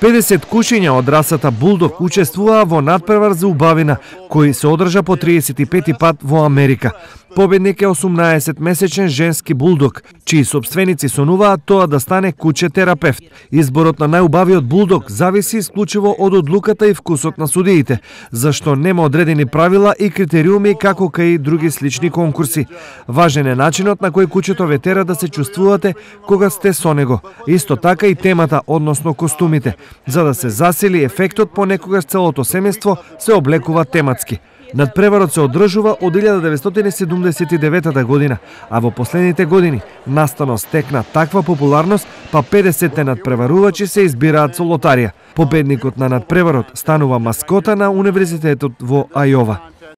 50 кушиња од расата булдог учествуваа во надпревар за убавина, кој се одржа по 35 пат во Америка. Победник е 18-месечен женски булдог, чии сопственици сонуваат тоа да стане куче терапевт. Изборот на најубавиот булдог зависи исклучиво од одлуката и вкусот на судиите, зашто нема одредени правила и критериуми како кај други слични конкурси. Важен е начинот на кој кучето ве тера да се чувствувате кога сте со него. Исто така и темата, односно костумите. За да се засили ефектот, понекогаш целото семејство се облекува тематски. Надпреварот се одржува од 1979 година, а во последните години настанот стекна таква популарност, па 50 надпреварувачи се избираат со лотарија. Победникот на надпреварот станува маскота на Универзитетот во Ајова.